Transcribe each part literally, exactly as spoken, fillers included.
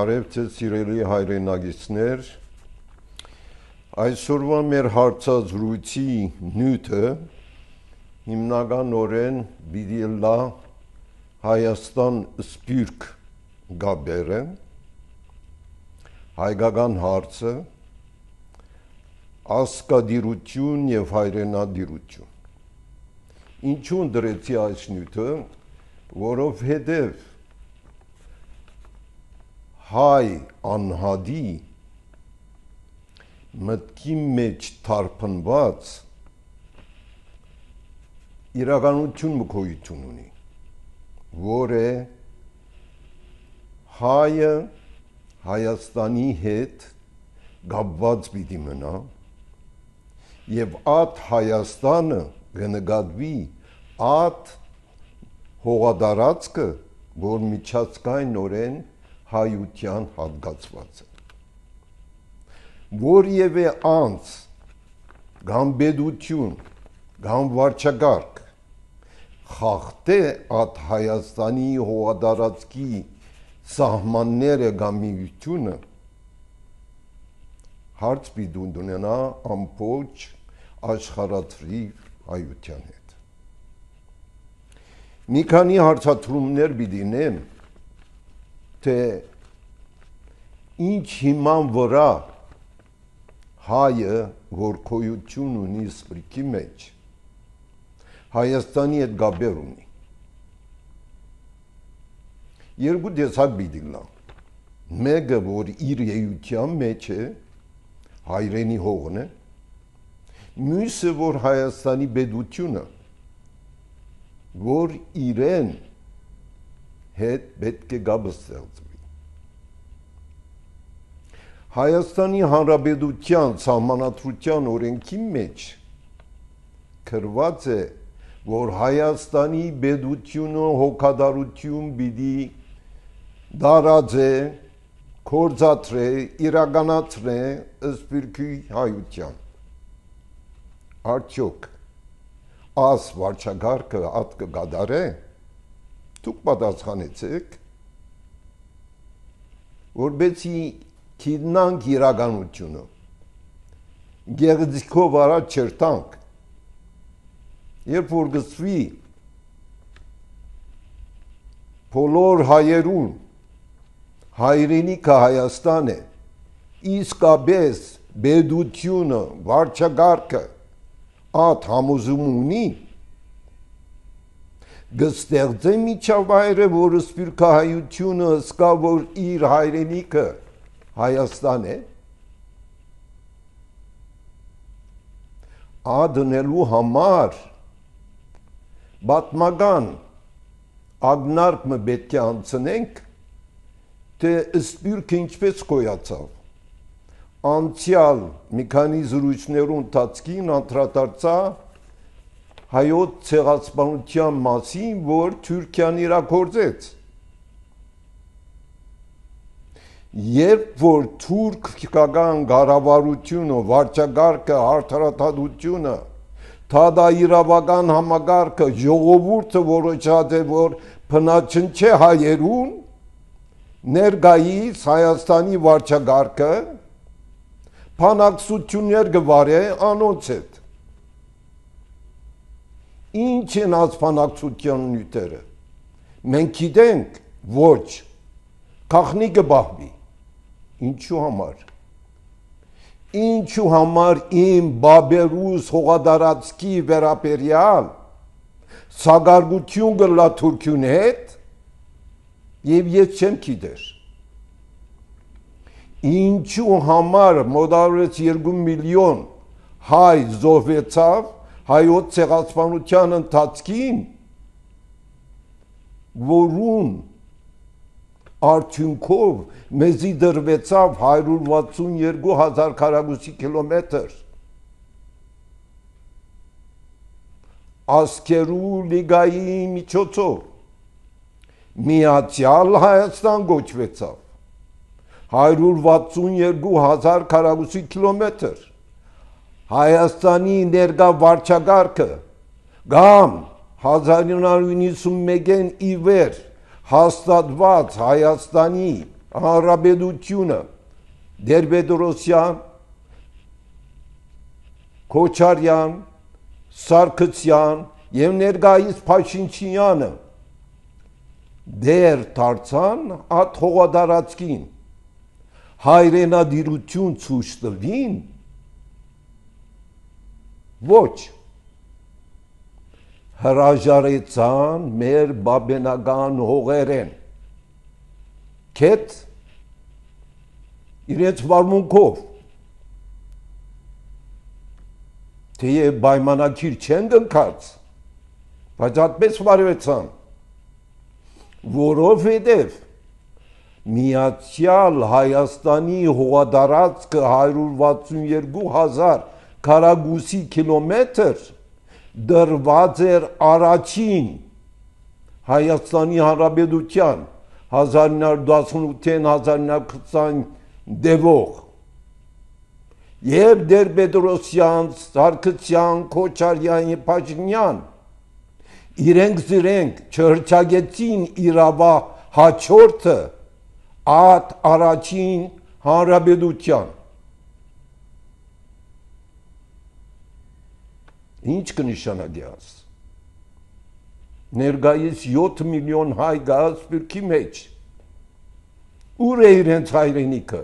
Բարև ձեզ սիրելի հայրենագիտներ, այսօրվա մեր հարցազրույցի նյութը հիմնականորեն պիտի լա Հայաստան Սփյուռք գաբերը, հայկական հարցը, ազգադիրություն եւ հայրենադիրություն։ Ինչու դրեցի այս նյութը, որովհետեւ հայ անհադի մտքի մեջ թարփնված իրականություն մկոյություն ունի, որ է հայը Հայաստանի հետ գաբված պիտի մնա եւ այդ Հայաստանը կնկատվի այդ հողադարածքը, որ միջազգայինորեն հայության հատկացված է։ Որևէ անձ, կամ պետություն, կամ վարչակարգ խախտե այդ Հայաստանի հողադարածքի սահմանները կամ միությունը հարց պիտի ունենա ամբողջ աշխարհացրի հայության հետ։ Մի քանի հարցադրումներ պիտի նեմ, թե ինչ հիման վրա հայը, որ գոյություն ունի Սփյուռքի մեջ, Հայաստանի հետ գաբեր ունի։ Երկու տեսակ պիտի լա։ Մեկը, որ իր էության մեջ է, հայրենի հողն է, մյուսը, որ Հայաստանի պետությունը, որ իրեն հետ պետք է գաբը ստեղծվի։ Հայաստանի Հանրապետության սահմանադրության օրենքի մեջ գրված է, որ Հայաստանի պետությունը հոգադարություն պիտի դարաձե, կործածրե, իրականացրե Սփյուռքի հայության։ Արդյոք այս վարչակարգը այդ կգադարե։ Դուք պատասխանեցեք, որբեցի քիդնանք իրականությունը, գեղձիկով առաջ չերտանք, երբ որ գծվի բոլոր հայերուն, հայրենիքը Հայաստան է, իսկապես պետությունը, վարչակարգը այդ համոզում ունի, գստեղծե միջավայրը, որ սփյուռքահայությունը սկա, որ իր հայրենիքը Հայաստան է, ադնելու համար պատմական ակնարկը պետք է անցնենք, թե Սփյուռքը ինչպես գոյացավ։ Անցյալ մի քանի զրույցներու ընթացքին անդրադարձա հայոց ցեղասպանության մասին, որ Թուրքիան իրագործեց։ Երբ որ թուրքական կառավարությունը, վարչակարգը, արդարադատությունը, թադաիրավական համակարգը, ժողովուրդը որոշած է, որ բնաչնչե հայերուն, ներկայիս Հայաստանի վարչակարգը բանակցություններ կվարե անոնց հետ։ Ինչ են այս բանակցության նյութերը։ Մենք գիտենք, ոչ, գաղտնիքը բահվի։ Ինչու համար։ Ինչու համար իմ բաբերուս հողադարածքի վերաբերյալ սակարկություն կլա Թուրքիուն հետ եւ ես չեմ գիտեր։ Ինչու համար մոտավորապես երկու միլիոն հայ զոհվեցավ հայոց ցեղասպանության ընթացքին, որուն արդյունքով մեզի դրվեցավ հարյուր վաթսունյոթ հազար քառակուսի կիլոմետր ազգերու լիգայի միջոցով Միացյալ Հայաստան գոչվեցավ հարյուր վաթսունյոթ հազար քառակուսի կիլոմետր Հայաստանի ներկա վարչակարգը կամ հազար իննսուն նինսունմեկին ի վեր հաստատված Հայաստանի Հանրապետությունը Տեր-Պետրոսյան, Քոչարյան, Սարգսյան եւ ներկայիս Փաշինյանը դեր դարձան այդ հողատարածքին հայրենադիրություն ցույց տվին ոչ հրաժարեցան մեր բաբենական հողերեն կետ իրենց վարմունքով թեև պայմանագիր չեն կնքած բայց այդպես վարվեցան որովհետև Միացյալ Հայաստանի հողատարածքը հարյուր վաթսունյոթ հազար քառակուսի կիլոմետր դրված էր առաջին Հայաստանի Հանրապետության հազար ինը հարյուր տասնութ հազար ինը հարյուր քսան դեպող եւ Տեր-Պետրոսյան, Սարգսյան, Քոչարյան, Փաշինյան իրենք զիրենք չհրճագեցին իրավա հաջորդը այդ առաջին հանրապետության ինչ կնշանակի աս ներկայիս յոթ միլիոն հայ գա սփյուռքի մեջ ուր է իրենց հայրենիքը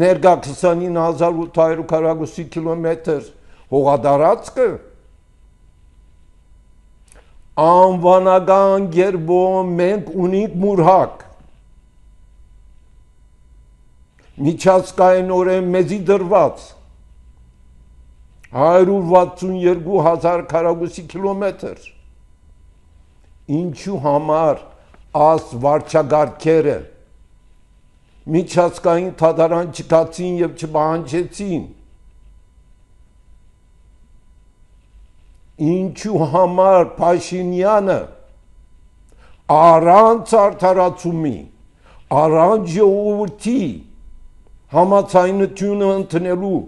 ներկա քսանինը հազար ութ հարյուր քառակուսի կիլոմետր հողատարածքը անվանական գերբով մենք ունենք մուրհակ միջազգայինորեն մեզի դրված հարյուր վաթսունյոթ հազար քառակուսի կիլոմետր ինչու համար աս վարչագարկերը միջազգային թադարան չկացին եւ չպահանջեցին ինչու համար Փաշինյանը առանց արդարացումի առանց ժողովրդի համաձայնությունը ընդունելու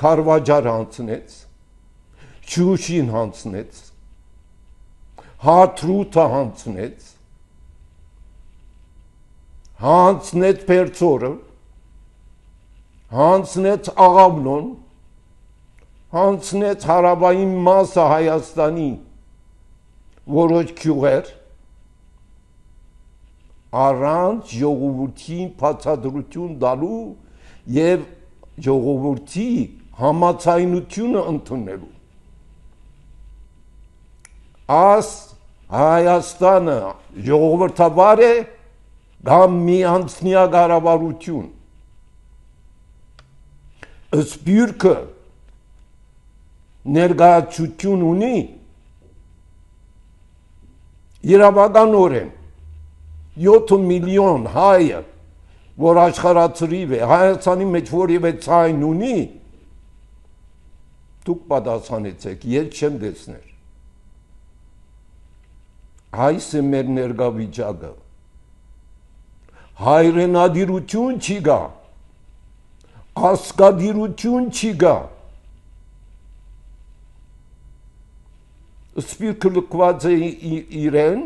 Քարվաճար հանձնեց Շուշին հանձնեց Հադրութը հանձնեց հանձնեց Պերձորը հանձնեց Աղավնոն հանձնեց հարավային մասը Հայաստանի որոշ գյուղեր առանց ժողովրդին բացատրություն տալու եւ ժողովրդի համաձայնությունը ընդունելու աս Հայաստանը ժողովրդավար է կամ միանձնյա կառավարություն սփյուռքը ներկայացություն ունի իրավականորեն յոթ միլիոն հայը որ աշխարհացրիվ է Հայաստանի մեջ որևէ ցայն ունի դուք պատասխանեցեք ես չեմ տեսներ այս է մեր ներկա վիճակը հայրենադիրություն չի գա ասկադիրություն չի գա սփյուռքը լքված է իրեն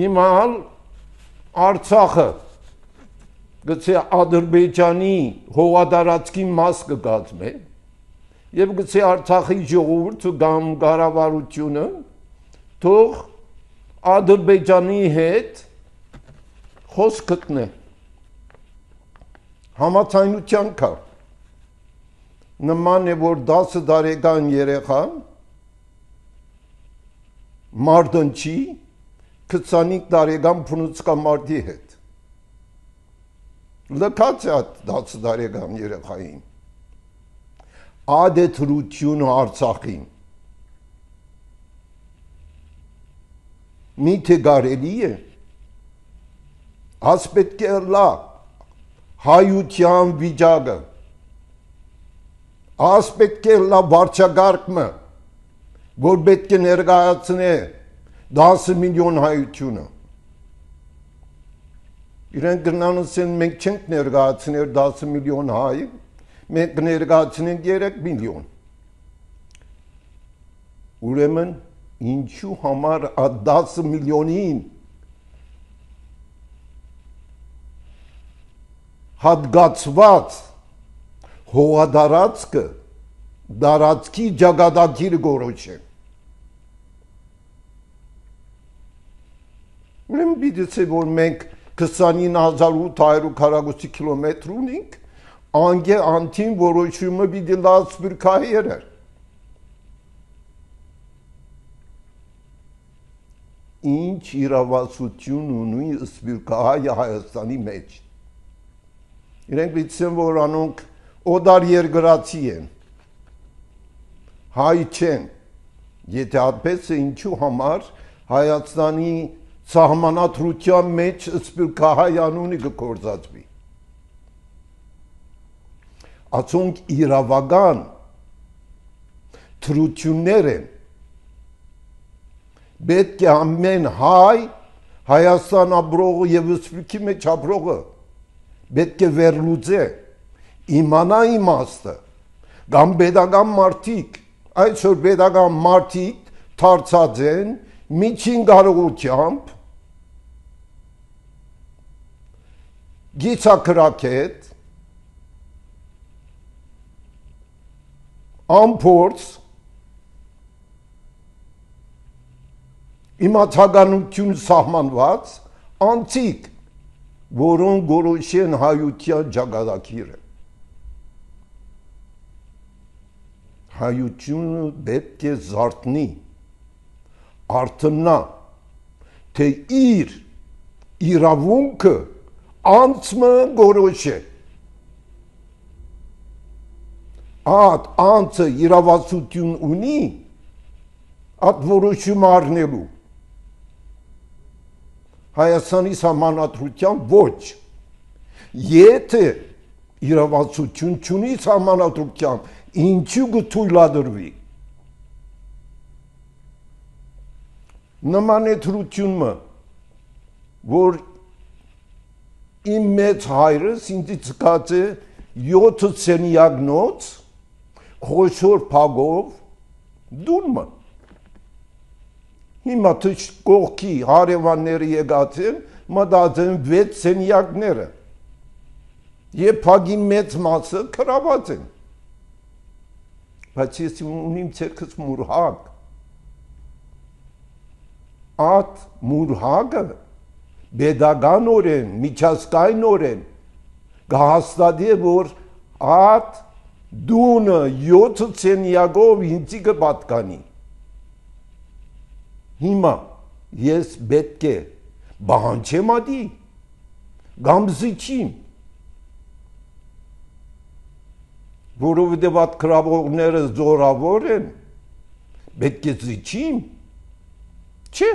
հիմա Արցախը գցե Ադրբեջանի հողատարածքի մաս կգազմե եւ գցե Արցախի ժողովուրդը կամ կառավարությունը թող Ադրբեջանի հետ խոսք գտնե համաձայնության կա նման է որ դասը տարեկան երեխան մարտնչի քսանինը տարեկան փնուցկամարտի հետ լքած է դասը տարեկան երեխային ադետրություն Արցախին միթե կարելի է աս պետք է լա հայության վիճակը աս պետք է լա վարչագարկը որ պետք է ներկայացնե դաս միլիոն հայությունը իրենք գնանցեն մենք չենք ներկայացնել դաս միլիոն հայ մենք ներկայացնենք երեք միլիոն ուրեմն ինչու համար այդ դասը միլիոնին հատկացված հողադարածքը դարածքի ճակատագիրը գորոշեն։ Ուրեմն պիտի ցե որ մենք քսանինը հազար ութ հարյուր քառակուսի կիլոմետր ունենք, անգե անտին որոշումը պիտի լավ սպիրկահայերը։ Ինչ իրավասություն ունի սպիրկահայը Հայաստանի մեջ։ Իրենք պիտի որ անոնք օդար երկրացի են, հայ չեն, եթե այդպես է ինչու համար Հայաստանի սահմանադրության մեջ սպիրկահայ անունի կգործածվի։ Ացոնք իրավական թրություններ են, պետք է ամեն հայ Հայաստան ապրողը և սպիրկի մեջ ապրողը պետք է վերլուծե, իմանա իմաստը, կամ պետական մարդիկ, այսօր պետական մարդիկ դարձած են միջին կարողությամբ գիծակրակետ, ամփորձ, իմացականություն սահմանված, անցիկ, որոնք գորոշեն հայության ճակատագիրը։ Հայությունը պետք է զարթնի, արթնա, թե իր իրավունքը անցմը գորոշե։ Այդ անցը իրավասություն ունի, այդ որոշում առնելու։ Հայաստանի սահմանադրության ոչ։ Եթե իրավասություն չունի սահմանադրության, ինչու կթույլատրվի։ Նման է թրությունը, որ իմ մեծ հայրս ինձ ցկած է յոթ սենյակնոց խոշոր փագով դուրմը։ Հիմա կողքի հարևանները եկած են, մտածեն վեց սենյակները և փագի մեծ մասը քրաված են։ Բայց ես ունիմ ցերքս մուրհակ։ Այդ մուրհակը պետականորեն, միջազգայինորեն կհաստատի, որ այդ դունը յոթ սենյակով ինձ կպատկանի։ Հիմա ես պետք է բանջեմ ադի, կամ զիջիմ, որովհետև այդ քրավողները զորավոր են, պետք է զիջիմ, չէ,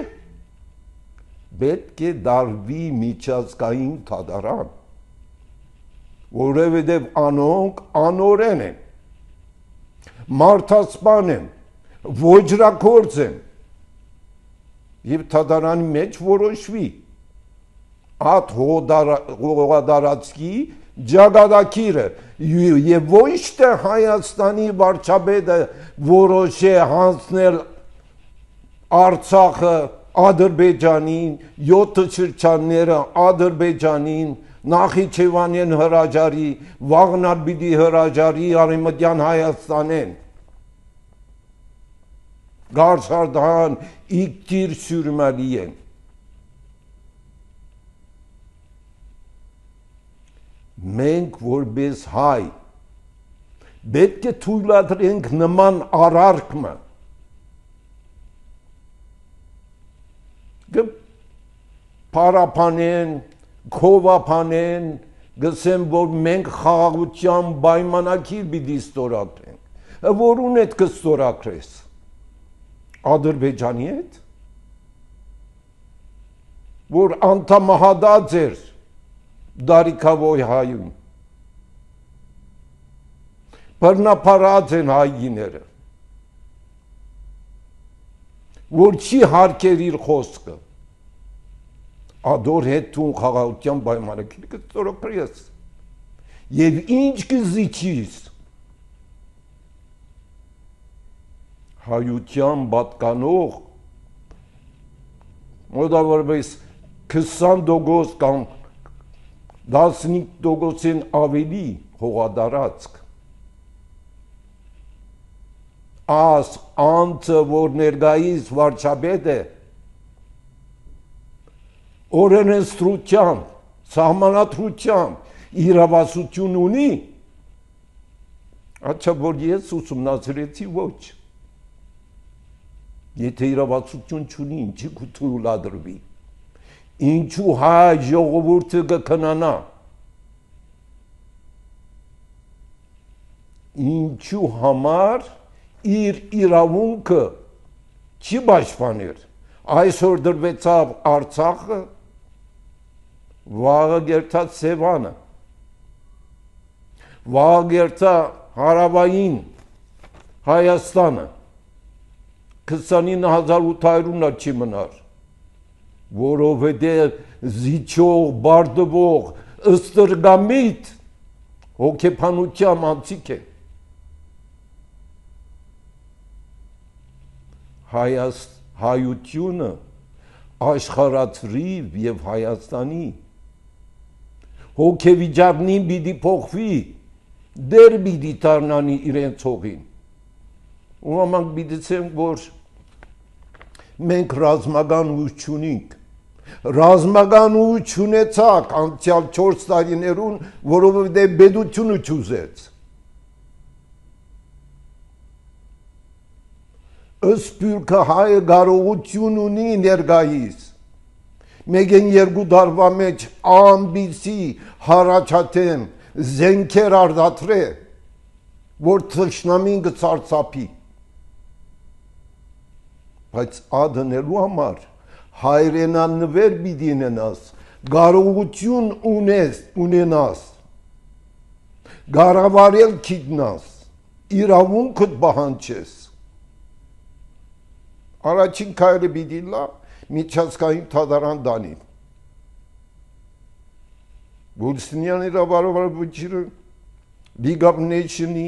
պետք է դարվի միջազգային թադարան, որովհետև անոնք անօրեն են, մարդասպան են, ոճրագործ են, և թադարանի մեջ որոշվի այդ հողադարածքի ճակատագիրը և ոչ թե Հայաստանի վարչապետը որոշ է հանձնել Արցախը Ադրբեջանին, յոթ շրջանները Ադրբեջանին, Նախիջևանին հրաժարի, վաղնար պիտի հրաժարի Արևմտյան Հայաստանեն։ Գարշարդան իգտիր սյուրմալի են։ Մենք որպես հայ պետք է թույլատրենք նման արարքմը։ Պարապանեն, քովապանեն, գսեն, որ մենք խաղաղության պայմանագիր պիտի ստորագրենք։ Որուն հետ կստորագրես։ Ադրբեջանի հետ, որ անդամահատած էր դարիքավոյ հայում, բռնապարած են հայիները, որ չի հարկեր իր խոսքը, ադոր հետ թուն խաղաղության պայմանագիր կստորագրես, և ինչ կզիջիս, հայության պատկանող մոտավորապես քսան տոկոս կամ տասնհինգ տոկոսին ավելի հողադարածք աս անձը, որ ներկայիս վարչապետ է, օրենսդրությամբ, սահմանադրությամբ իրավասություն ունի, աչա որ ես ուսումնասիրեցի ոչ։ Եթե իրավասություն չունի, ինչի կթույլատրվի, ինչու հայ ժողովուրդը կքնանա, ինչու համար իր իրավունքը չի պաշտպաներ, այսօր դրվեցավ Արցախը, վաղը գերտա Սևանը, վաղը գերտա հարավային Հայաստանը, քսանինը հազար ութ հարյուրը չի մնար, որովհետև զիջող, բարդվող, ըստրգամիտ հոգեբանությամբ անցիկ է։ Հայությունը աշխարհացրիվ եւ Հայաստանի հոգեվիճակնին պիտի փոխվի, դեր պիտի դառնանի իրենց հողին։ Ու ամանք պիտի ցենք, որ մենք ռազմական ուժ չունենք, ռազմական ուժ չունեցաք անցյալ չորս տարիներուն, որովհետեւ բեդությունը չուզեց։ Սփյուռքը հայը կարողություն ունի ներկայիս, մեկ երկու տարվա մեջ ամբիսի հարաճատեմ զենքեր արդատրե, որ թշնամին կցարծափի, բայց ադնելու համար հայրենանվեր պիտի ունենաս, կարողություն ունես, ունենաս, կառավարել գիտնաս, իրավունքդ պահանջես։ Առաջին քայլը պիտի լա միջազգային դատարան դանի։ Բուլսինյան իրավարարությունը League of Nations-ի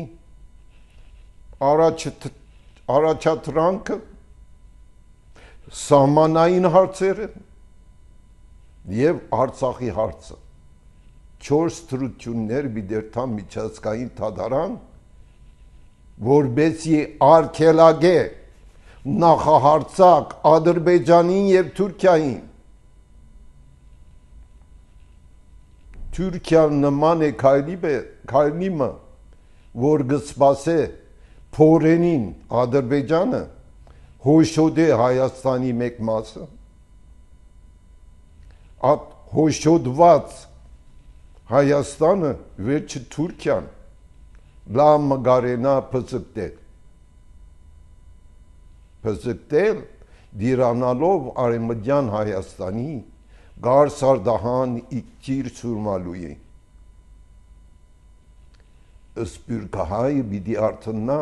առաջադրանքը սահմանային հարցերը եւ Արցախի հարցը չորս դրություններ բիդերթան միջազգային դատարան, որբեսի արգելագե նախահարցակ Ադրբեջանին եւ Թուրքիային։ Թուրքիան նման է քայլիմը, որ գսպասե փորենին Ադրբեջանը հոշոտե Հայաստանի մեկ մասը, at հոշոտված Հայաստանը վերջը Թուրքիան լամ գարենա փծկտել։ Փզկտել դիրանալով արեմդյան Հայաստանի գարսարդահան իքտիր սուրմալույի։ Սփյուռքահայը պիտի արթնա,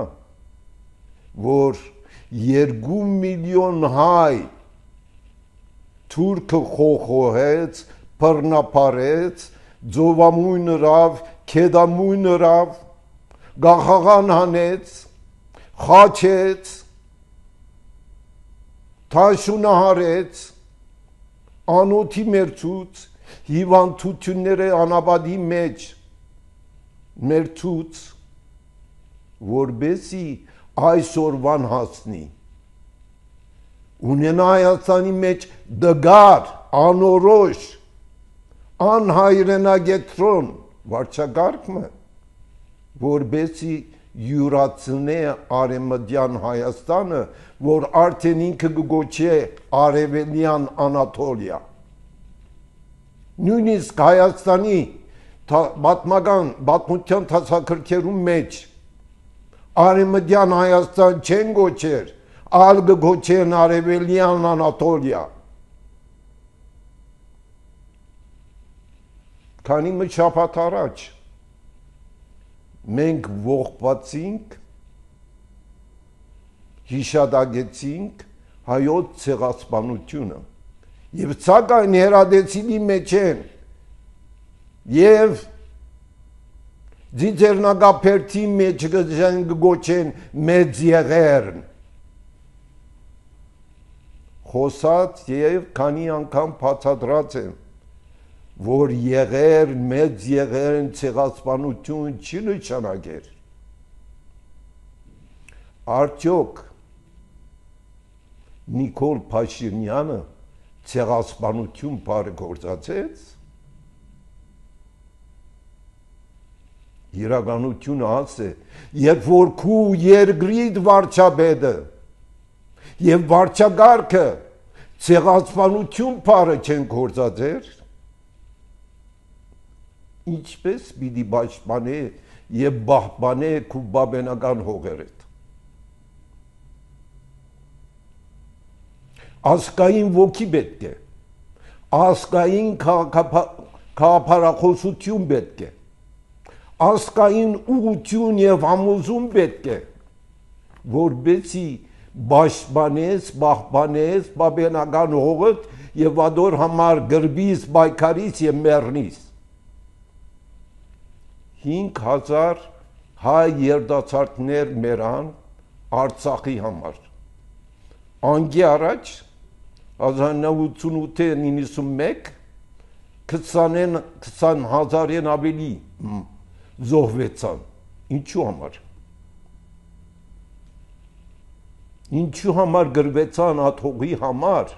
որ երկու միլիոն հայ թուրքը խոխոհեց, բռնապարեց, ձովամույն ռավ, քեդամույն ռավ, գախաղան հանեց, խաչեց, թաշունահարեց, անոթի մերցուց, հիվանդությունները անաբադի մեջ մերցուց, որբեսի այսօրվան հասնի։ Ունենա Հայաստանի մեջ դգար, անորոշ, անհայրենագետրոն վարչակարգը, որբեսի յուրացնե արեմդյան Հայաստանը, որ արդեն ինքը կգոչե արևելյան Անատոլիա։ Նույնիսկ Հայաստանի պատմական պատմության դասագրքերում մեջ արևմտյան Հայաստան չեն գոչեր, այլ կգոչեն արևելյան Անատոլիա։ Քանի մի շաբաթ առաջ մենք ողբացինք, հիշադակեցինք հայոց ցեղասպանությունը եւ ցակայն հերադեցիլի մեջ են եւ ձիձերնագապերտի մեջ գոչեն մեծ եղերն խոսած եւ քանի անգամ բացատրած եմ, որ եղեր, մեծ եղեր ցեղասպանություն չի նշանակեր։ Արդյոք Նիկոլ Փաշինյանը ցեղասպանություն բարեգործացեց։ Իրականությունը ասե, երբ որ քու երկրիդ վարչապետը եւ վարչագարքը ցեղասպանություն բարը չեն գործածեր, ինչպես պիտի պաշտպանե եւ պահպանե քու բաբենական հողերդ։ Ասկային ոգի պետք է, ասկային քաղաքապարախոսություն պետք է, ասկային ուղղություն եւ համոզում պետք է, որբեցի պաշտպանես, պահպանես բաբենական հողդ եւ ադոր համար գրբիս, բայկարից եւ մեռնիս։ հինգ հազար հայ երդացարտներ մեռան Արցախի համար։ Անգի առաջ հազար նավ ութսունութ նինսունմեկ քսան հազարեն ավելի զոհվեցան։ Ինչու համար։ Ինչու համար գրվեցան աթողի համար։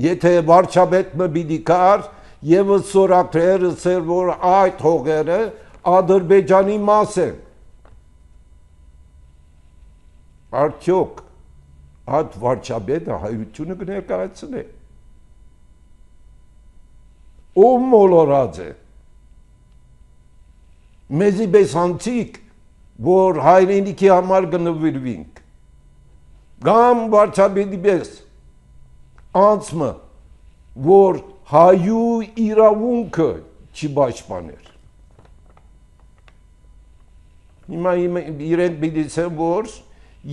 Եթե վարչապետը պիտի կար եւ սորակրեր ասեր, որ այդ հողերը Ադրբեջանի մաս են։ Արդյոք այդ վարչապետը հայությունը կներկայացնե։ Ով մոլորած է։ Մեզի պես անցիկ, որ հայրենիքի համար կնվիրվինք։ Գամ վարչապետի պես անցմը, որ հայու իրավունքը չի պաշտպաներ։ Հիմա իրենք պիտի ասեն, որ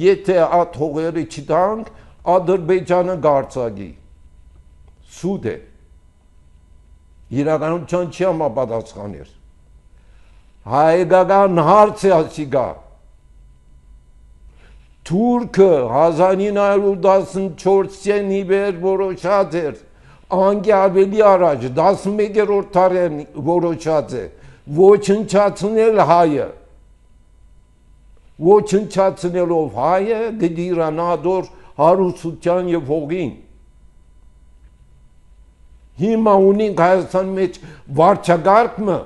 եթե այդ հողերը չտանք, Ադրբեջանը գարցագի։ Սուտ է։ Իրականության չի համապատասխաներ։ Հայկական հարց է ասիգա։ Թուրքը հազար ինը հարյուր տասնչորսին իբեր որոշած էր, անգի ավելի առաջ, տասնմեկերորդ դարին որոշած է, ոչնչացնել հայը։ Ոչնչացնելով հայը գդիրանա դոր հարուսության եւ հողին։ Հիմա ունենք Հայաստանի մեջ վարչագարկը,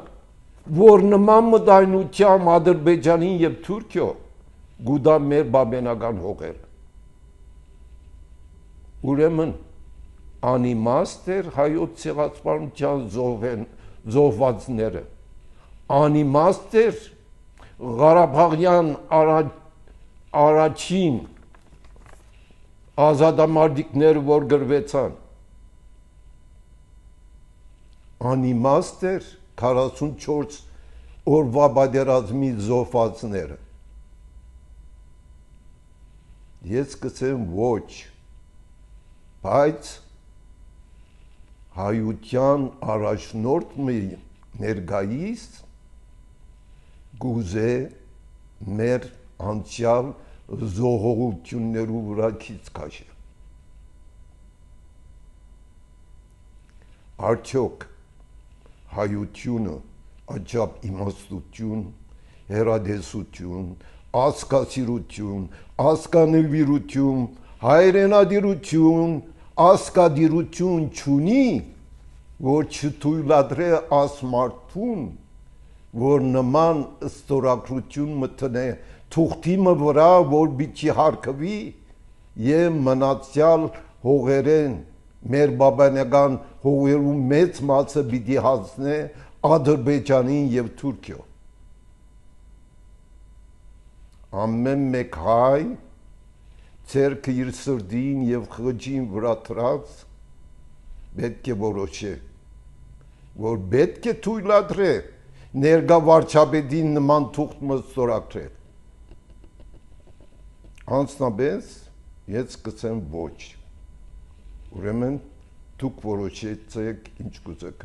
որ նման մտայնությամբ Ադրբեջանին եւ Թուրքիո գուդա մեր բաբենական հողերը։ Ուրեմն անիմաստ էր հայոց ցեղասպանության զոհվածները, անիմաստ էր Ղարաբաղյան առաջին ազատամարտիկները, որ գրվեցան, անիմաստ էր քառասունչորս օրվա պատերազմի զոհվածները։ Ես կսեմ ոչ, բայց հայության առաջնորդ ներկայիս գուզե մեր անցյալ զոհողություններու վրա քիչ քաշե։ Արդյոք հայությունը աճապ իմաստություն, հերադեսություն, ասկասիրություն, ասկանվիրություն, հայրենադիրություն, ասկադիրություն չունի, որ չթույլատրե ասմարդուն, որ նման ստորագրություն մտնե թուղթիմը վրա, որ բիչի հարկվի եւ մնացյալ հողերեն մեր բաբանական հողերու մեծ մասը պիտի հասնե Ադրբեջանին եւ Թուրքիո։ Ամեն մեկ հայ ցերկը իր սրդին եւ խղճին վրա դրած պետք է որոշե, որ պետք է թույլատրե ներկա վարչապետին նման թուղթ ստորագրել։ Անցնաբես ես կսեմ ոչ։ Ուրեմն դուք որոշեցեք ինչ կուզեք։